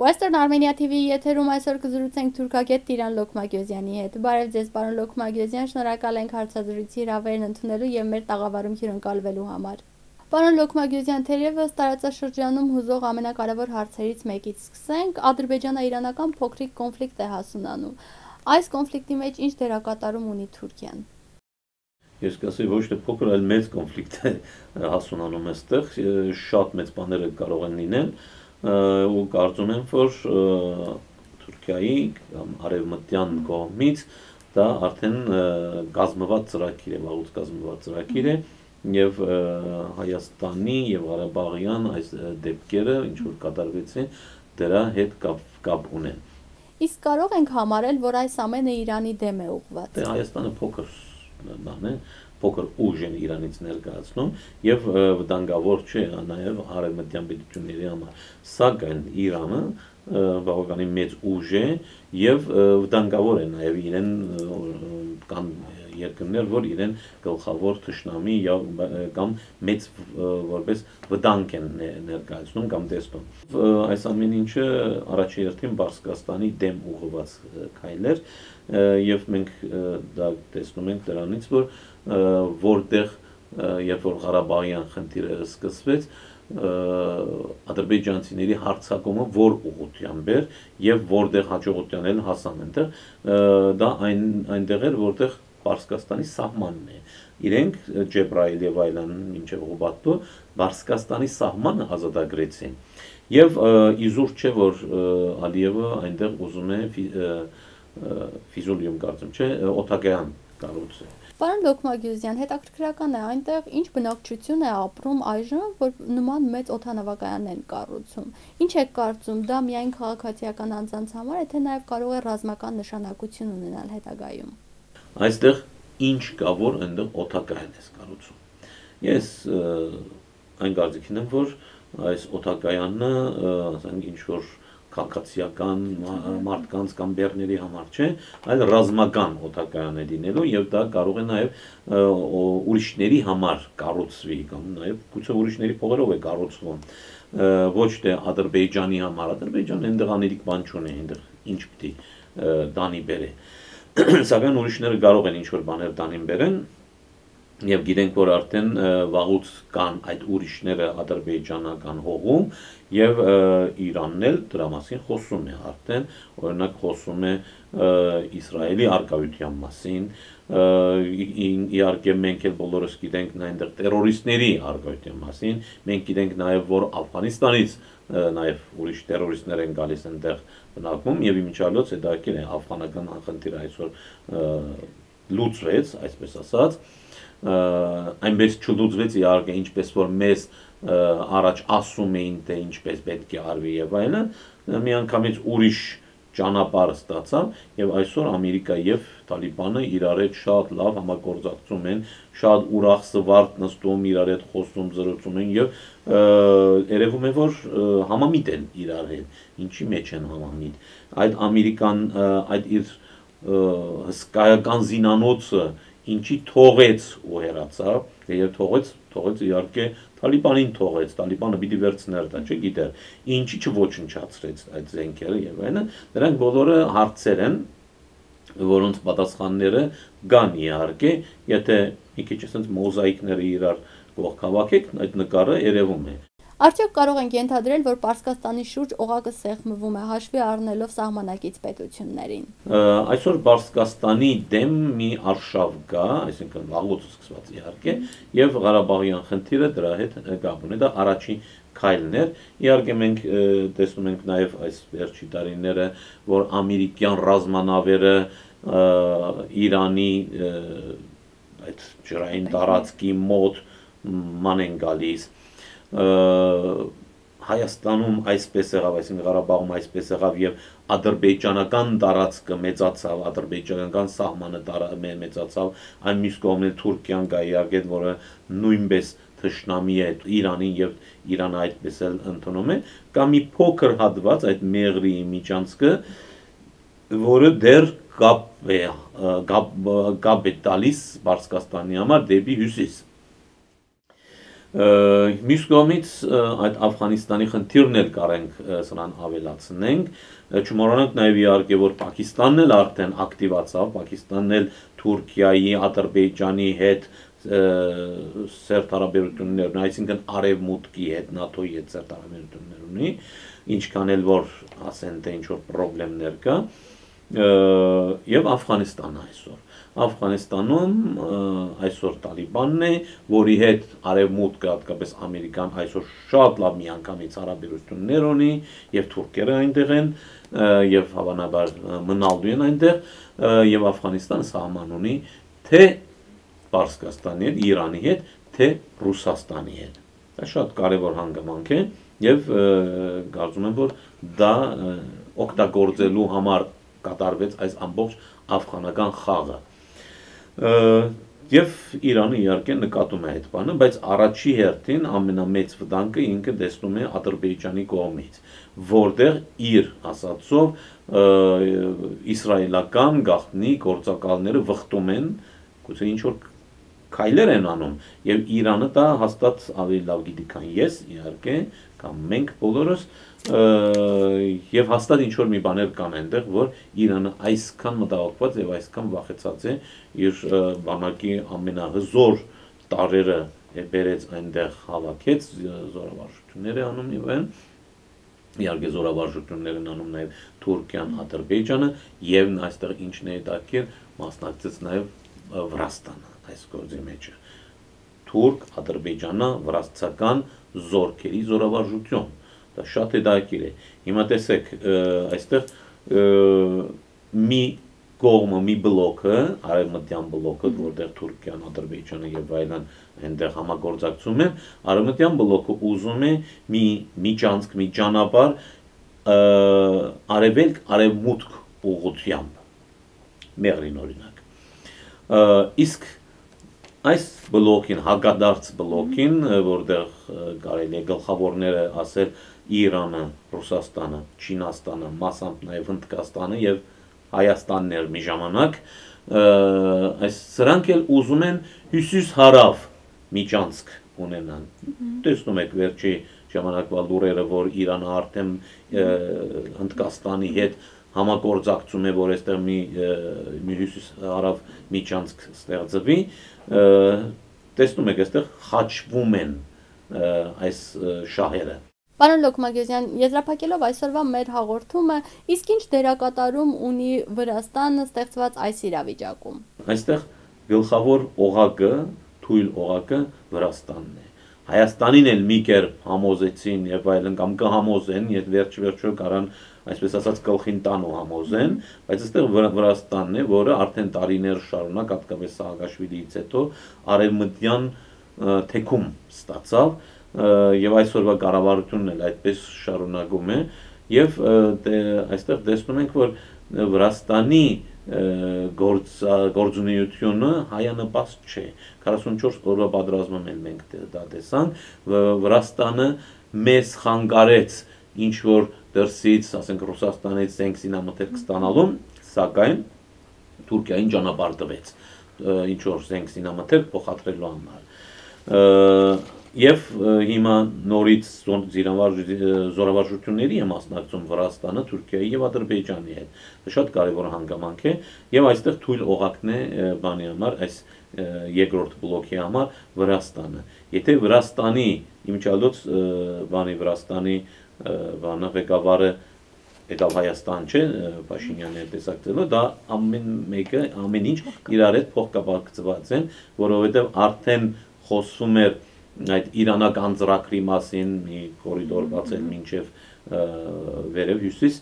Western Armenia TV-ի եթերում այսօր կզրուցենք թուրքագետ Տիրան Լոքմագյոզյանի հետ։ Բարև ձեզ, պարոն Լոքմագյոզյան, շնորհակալ ենք հարցազրույցի հրավերն ընդունելու եւ մեր տաղավարում հյուրընկալվելու համար։ Պարոն Լոքմագյոզյան, թերևս տարածաշրջանում հուզող ամենակարևոր հարցերից մեկից սկսենք, ադրբեջանա-իրանական փոքրիկ կոնֆլիկտ է հասունանում։ Այս կոնֆլիկտի մեջ ինչ դերակատարում ունի Թուրքիան։ Ես կասեի ոչ թե փոքր, այլ մեծ կոնֆլիկտ է հասունանում այստեղ, շատ մեծ բաներ կարող են լինել, ու կարծում եմ, որ Թուրքիայի կամ արևմտյան կողմից դա արդեն կազմված ծրագիր է, վաղուց կազմված ծրագիր է, եւ Հայաստանի եւ Ղարաբաղյան այս դեպքերը, ինչ որ կատարվեցին, դրա հետ կապ ունեն։ Իսկ կարող ենք համարել, որ այս ամենը Իրանի դեմ է ուղղված։ Հայաստանը փոքր բան է, փոքր ուժ են Իրանից ներկայացնում եւ վտանգավոր չէ նաեւ արևմտյան պետությունների համար, սակայն Իրանը բավականին մեծ ուժ է եւ վտանգավոր է նաեւ իրեն կան երկրներ, որ իրեն գլխավոր թշնամի կամ մեծ որպես վտանգ են ներկայացնում կամ տեսնում։ Այս ամեն ինչը առաջին հերթին Պարսկաստանի դեմ ուղղված քայլեր եւ մենք դա տեսնում ենք դրանից, որ որտեղ երբ որ Ղարաբաղյան խնդիրը սկսվեց, ադրբեջանցիների հարձակումը որ ուղղությամբ էր եւ որտեղ հաջողության էլ հասան այնտեղ, դա այնտեղ էր, որտեղ Պարսկաստանի սահմանն է։ Իրենք Ջեբրայել եւ այլն մինչեւ Ղուբատո Պարսկաստանի սահմանը ազատագրեցին։ Եվ իզուր չէ, որ Ալիևը այնտեղ ուզում է Ֆիզուլիում կարծում չէ, օտակայան կառուցել։ Պարոն Լոքմագյոզյան, հետաքրքրական է այնտեղ ինչ բնակչություն է ապրում այժմ, որ նման մեծ օդանավակայան են կառուցում։ Ինչ եք կարծում, դա միայն քաղաքացիական անձանց համար է, թե նաև կարող է ռազմական նշանակություն ունենալ հետագայում։ Այստեղ ինչ կա, որ այնտեղ օդակայան է կառուցում։ Ես այն կարծիքին եմ, որ այս օդակայանը, ասենք ինչ որ քաղաքացիական մարդկանց կամ բեռների համար չէ, այլ ռազմական օդակայան է լինելու եւ դա կարող է նաեւ ուրիշների համար կառուցվի կամ նաեւ գուցե ուրիշների փողերով է կառուցվում, ոչ թե Ադրբեջանի համար։ Ադրբեջանը այնտեղ անելիք բան չունի, այնտեղ ինչ պիտի դանի բերե։ Սակայն ուրիշները կարող են ինչ որ բաներ դանին բերեն եւ գիտենք, որ արդեն վաղուց կան այդ ուրիշները ադրբեջանական հողում եւ Իրանն էլ դրա մասին խոսում է արդեն, օրինակ խոսում է Իսրայելի արկայության մասին, իհարկե մենք էլ բոլորս գիտենք այնտեղ տերորիստների արկայության մասին, մենք գիտենք նաեւ, որ Աֆղանիստանից նաեւ ուրիշ տերորիստներ են գալիս այնտեղ բնակվում եւ իմիջիալոց հետաքրքիր է աֆղանական խնդիրը այսօր լուծվեց, այսպես ասած, այնպես չլուծվեց իհարկե, ինչպես որ մեզ առաջ ասում էին, թե ինչպես պետք է արվի եւ այլն, միանգամից ուրիշ ճանապարհ ստացավ եւ այսօր Ամերիկա եւ Տալիբանը իրար հետ շատ լավ համագործակցում են, շատ ուրախ սվարտ նստում, իրար հետ խոսում, զրուցում են եւ երևում է, որ համամիտ են իրար հետ, ինչի մեջ են համամիտ։ Այդ Ամերիկան այդ իր հսկայական զինանոցը ինչի թողեց ու հեռացավ, եւ թողեց իհարկե Տալիբանին թողեց, Տալիբանը պիտի վերցներ դա, չգիտեր, ինչի չոչնչացրեց այդ զենքերը եւ այլն, դրանք բոլորը հարցեր են, որոնց պատասխանները կան իհարկե, եթե մի քիչ ասենց մոզաիկները իրար կողքավաքեք, այդ նկարը երևում է։ Արդյոք կարող ենք ենթադրել, որ Պարսկաստանի շուրջ օղակը սեղմվում է հաշվի առնելով սահմանակից պետություններին։ Այսօր Պարսկաստանի դեմ մի արշավ կա, այսինքն վաղուց սկսված իհարկե, եւ Ղարաբաղյան խնդիրը դրա հետ կապ ունի, դա առաջին քայլն էր։ Իհարկե մենք տեսնում ենք նաեւ այս վերջի տարիները, որ ամերիկյան ռազմանավերը Իրանի այդ ջրային տարածքի մոտ ման են գալիս։ Հայաստանում այսպես եղավ, այսինքն Ղարաբաղում այսպես եղավ եւ ադրբեջանական տարածքը մեծացավ, ադրբեջանական սահմանը մեծացավ, այն մյուս կողմից Թուրքիան կա իհարկե, որը նույնպես թշնամի է Իրանին եւ Իրանը այդպես էլ ընդունում է, կամ մի փոքր հատված այդ Մեղրի միջանցքը, որը դեռ կապ է տալիս Պարսկաստանի համար դեպի հյուսիս։ Մյուս կողմից այդ Աֆղանիստանի խնդիրն էլ կարենք սրան ավելացնենք, չմոռանանք նաև իհարկե որ Պակիստանն էլ արդեն ակտիվացավ, Պակիստանն էլ Թուրքիայի, Ադրբեջանի հետ սերտ հարաբերություններ ունի, այսինքն արևմուտքի հետ, ՆԱԹՕ-ի հետ սերտ հարաբերություններ ունի, ինչքան էլ որ ասեն թե ինչ որ խնդիրներ կա, եւ Աֆղանիստանը այսօր Աֆղանիստանում այսօր Տալիբանն է, որի հետ արևմուտքը, հատկապես Ամերիկան այսօր շատ լավ միանգամից հարաբերություններ ունի, եւ թուրքերը այնտեղ են, եւ հավանաբար մնալու են այնտեղ, եւ Աֆղանիստանը սահման ունի թե Պարսկաստանի հետ, Իրանի հետ, թե Ռուսաստանի հետ։ Դա շատ կարևոր հանգամանք է եւ կարծում եմ որ դա օգտագործելու համար կատարվեց այս ամբողջ աֆղանական խաղը։ Եվ Իրանը իհարկե նկատում է այդ բանը, բայց առաջի հերթին ամենամեծ վտանգը ինքը տեսնում է Ադրբեջանի կողմից, որտեղ իր ասածով իսրայելական գաղտնի գործակալները վխտում են, գուցե ինչ որ քայլեր են անում, եւ Իրանը դա հաստատ ավելի լավ գիտի, քան ես, իհարկե, կամ մենք բոլորս, եւ հաստատ ինչ որ մի բաներ կան այնտեղ, որ Իրանը այսքան մտահոգված եւ այսքան վախեցած է իր բանակի ամենահզոր տարրերը բերեց այնտեղ հավաքեց, զորավարժություններ է անում եւ այն, իհարկե զորավարժություններ են անում նաեւ Թուրքիան, Ադրբեջանը եւ այստեղ ինչն է դակեր մասնակցեց նաեւ Վրաստանը այս գործի մեջ թուրք, ադրբեջանա, վրաստական զորքերի զորավարժություն, դա շատ հետաքրքիր է, հիմա տեսեք, այստեղ մի կողմը, մի բլոկը, արևմտյան բլոկը, որտեղ Թուրքիան, Ադրբեջանը եւ այլն այնտեղ համագործակցում են, արևմտյան բլոկը ուզում է մի միջանցք, մի ճանապարհ արևելք, արևմուտք ուղղությամբ, մեղրին օրինակ, իսկ այս բլոկին, հակադարձ բլոկին, որտեղ կարելի է գլխավորները ասել Իրանը, Ռուսաստանը, Չինաստանը, մասամբ նաև Հնդկաստանը եւ Հայաստանն էր մի ժամանակ, այս սրանք էլ ուզում են հյուսիս-հարավ միջանցք ունենան։ Տեսնում եք վերջի ժամանակվա լուրերը, որ Իրանը արդեն Հնդկաստանի հետ համագործակցում է, որ այստեղ մի հյուսիս-հարավ միջանցք ստեղծվի, տեսնում եք, այստեղ խաչվում են այս շահերը։ Պարոն Լոկմագեզյան, եզրափակելով այսօրվա մեր հաղորդումը, իսկ ինչ դերակատարում ունի Վրաստանը ստեղծված այս իրավիճակում։ Այստեղ գլխավոր օղակը, թույլ օղակը Վրաստանն է։ Հայաստանին էլ մի կերպ համոզեցին եւ այլն կամ կհամոզեն, եթե վերջ-վերջո կարան այսպես ասած գլխին տան ու համոզեն, բայց այստեղ Վրաստանն է, որը արդեն տարիներ շարունակ, հատկապես Սաակաշվիլիից հետո արևմտյան թեքում ստացավ եւ այսօրվա կառավարությունն էլ այդպես շարունակում է եւ այստեղ տեսնում ենք, որ Վրաստանի գործունեությունը հայանպաստ չէ 44 օրվա պատերազմում էլ մենք դա տեսանք Վրաստանը մեզ խանգարեց ինչ որ դրսից ասենք Ռուսաստանից զենք զինամթերք ստանալու սակայն Թուրքիային ճանապարհ տվեց ինչ որ զենք զինամթերք փոխադրելու համար Եվ հիմա նորից զորավարժությունների է մասնակցում Վրաստանը, Թուրքիայի եւ Ադրբեջանի հետ։ Դա շատ կարևոր հանգամանք է եւ այստեղ թույլ օղակն է բանի համար, այս երկրորդ բլոկի համար Վրաստանը։ Եթե Վրաստանի իմիջիալոց բանի Վրաստանի բանը ղեկավարը եկավ Հայաստան չէ, Փաշինյանը տեսակցելով, դա ամեն ինչ իրար հետ փոխկապակցված են, որովհետեւ արդեն խոսվում էր այդ իրանական ծրագրի մասին մի կորիդոր բացել մինչև վերև հյուսիս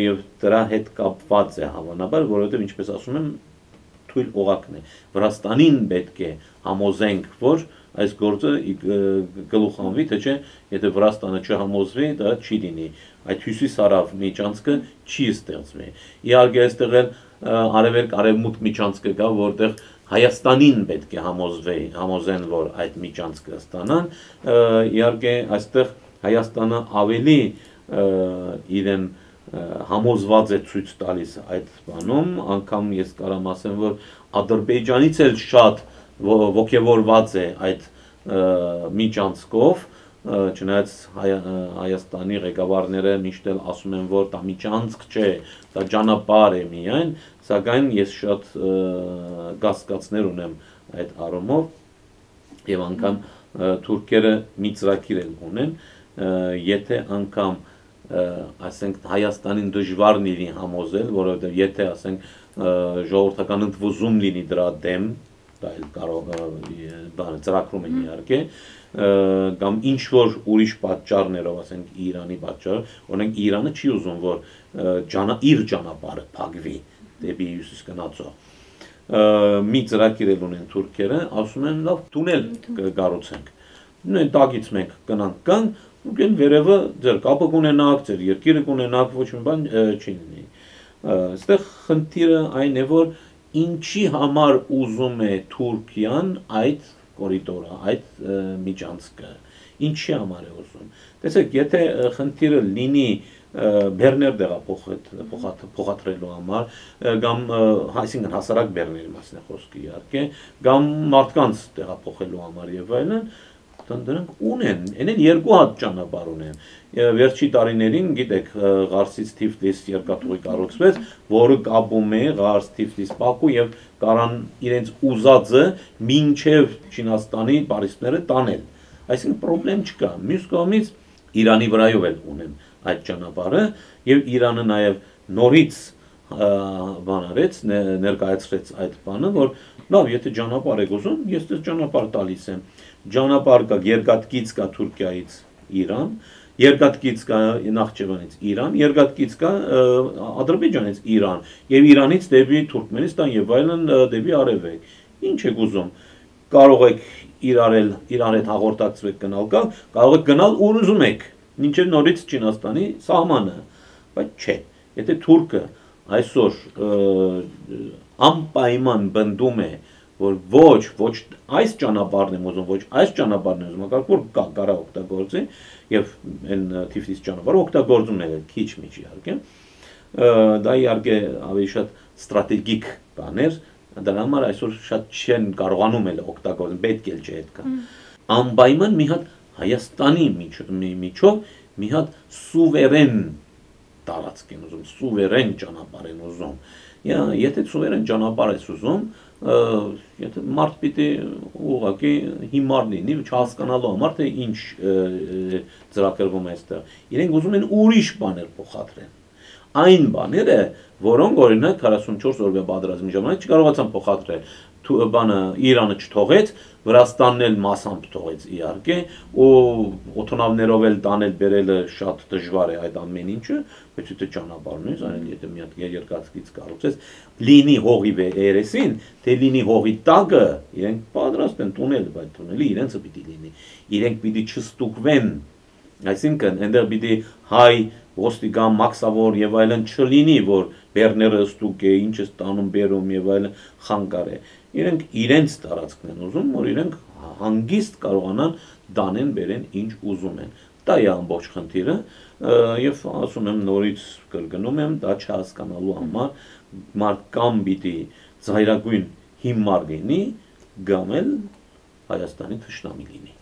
եւ դրա հետ կապված է հավանաբար, որովհետեւ ինչպես ասում եմ, թույլ օղակն է։ Վրաստանին պետք է համոզենք, որ այս գործը գլուխանվի, թե չէ, եթե Վրաստանը չհամոզվի, դա չի լինի։ Այդ հյուսիս-հարավ միջանցքը չի ստեղծվի։ Իհարկե այստեղ էլ արևելք արևմուտք միջանցքը կա, որտեղ Հայաստանին պետք է համոզեն, որ այդ միջանցքը ստանան, իհարկե այստեղ Հայաստանը ավելի իրեն համոզված է ցույց տալիս այդ բանում, անգամ ես կարամ ասեմ, որ Ադրբեջանից էլ շատ ոգևորված է այդ միջանցքով, չնայած Հայաստանի ղեկավարները միշտ էլ ասում են, որ դա միջանցք չէ, դա ճանապարհ է միայն, սակայն ես շատ կասկածներ ունեմ այդ առումով եւ անգամ թուրքերը մի ծրագիր ունեն, եթե անգամ ասենք Հայաստանին դժվար լինի համոզել, որովհետեւ եթե ասենք ժողովրդական ընդվզում լինի դրա դեմ, դա էլ կարող ծրագրում են իհարկե, կամ ինչ որ ուրիշ պատճառներով, ասենք Իրանի պատճառ, օրինակ Իրանը չի ուզում, որ իր ճանապարհը փակվի դեպի հյուսիս գնացող։ Մի ծրագիր ունեն թուրքերը, ասում են լավ տունել կկառուցենք։ Նույն տակից մենք կգանք, ու վերևը ձեր կապը կունենաք, ձեր երկիրը կունենաք, ոչ մի բան չի լինի։ Այստեղ խնդիրը այն է, որ ինչի համար ուզում է Թուրքիան այդ կորիդորը, այդ միջանցքը, ինչի համար է ուզում։ Տեսեք, եթե խնդիրը լինի բեռներ փոխադրելու համար, կամ այսինքն հասարակ բեռների մասին է խոսքը իհարկե, կամ մարդկանց տեղափոխելու համար եւ այլն, դրանք ունեն, այնեն երկու հատ ճանապարհ ունեն։ Վերջի տարիներին, գիտեք, Ղարսից Թիֆլիս երկաթուղի կառուցվեց, որը կապում է Ղարս, Թիֆլիս, Բաքու եւ կարան իրենց ուզածը մինչեւ Չինաստանի բարիսպները տանել։ Այսինքն խնդրեմ չկա։ Մյուս կողմից Իրանի վրայով էլ ունեն այդ ճանապարհը եւ Իրանը նաեւ նորից բանարեց, ներկայացրեց այդ բանը, որ լավ, եթե ճանապարհ եք ուզում, ես դες ճանապարհ տալիս եմ։ Ճանապարհ կա երկաթգիծ կա Թուրքիայից Իրան, երկաթգիծ կա Նախճեվանից Իրան, երկաթգիծ կա Ադրբեջանից Իրան եւ Իրանից դեպի Թուրքմենստան եւ այլն դեպի արևելք։ Ինչ եք ուզում։ Կարող եք իրար հետ հաղորդակցվեք գնալ կա, կարող եք գնալ ուր ուզում եք, մինչեւ նորից Չինաստանի սահմանը, բայց չէ։ Եթե թուրքը այսօր անպայման բնդում է, որ ոչ այս ճանապարհն եմ ուզում, ոչ այս ճանապարհն եմ ուզում, որ կարա օգտագործի եւ այն Թիֆլիս ճանապարհը օգտագործում է քիչ միջ իհարկե։ Դա իհարկե ավելի շատ ստրատեգիկ բան էր, դրա համար այսօր շատ չեն կարողանում էլ օգտագործել, պետք էլ չէ այդքան։ Անպայման մի հատ Հայաստանի միջով մի հատ սուվերեն տարածք են ուզում, սուվերեն ճանապարհ են ուզում։ Եթե սուվերեն ճանապարհ ես ուզում, եթե մարդ պիտի ուղղակի հիմար լինի, չհասկանալու համար թե ինչ ծրագրվում է այստեղ։ Իրենք ուզում են ուրիշ բաներ փոխադրեն։ Այն բաները, որոնք օրինակ 44 օրվա պատերազմի ժամանակ չկարողացան փոխադրել, բանը Իրանը չթողեց, Վրաստանն էլ մասամբ թողեց իհարկե, ու օթոնավներով էլ տանել բերելը շատ դժվար է այդ ամեն ինչը, բայց եթե ճանապարհն է, այն եթե մի հատ երկաթգիծ կառուցես, լինի հողի երեսին, թե լինի հողի տակը, իրենք պատրաստ են տունել, բայց տունելի իրենցը պիտի լինի, իրենք պիտի չստուկվեն, այսինքն այնտեղ պիտի հայ ոստիկան մաքսավոր եւ այլն չլինի, որ բեռները ստուկ է, ինչ է ստանում բերում եւ այլն խանգար է։ Իրենք իրենց տարածքն են ուզում, որ իրենք հանգիստ կարողանան դանեն բերեն ինչ ուզում են։ Դա է ամբողջ խնդիրը եւ ասում եմ նորից կրկնում եմ, դա չհասկանալու համար մարդ կամ պիտի զայրագույն հիմար լինի, կամ էլ Հայաստանի թշնամի լինի։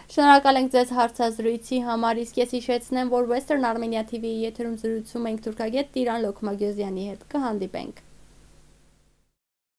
Շնորհակալ ենք ձեզ հարցազրույցի համար, իսկ ես հիշեցնեմ, որ Western Armenia TV-ի եթերում զրուցում ենք թուրքագետ Տիրան Լոքմագյոզյանի հետ։ Կհանդիպենք։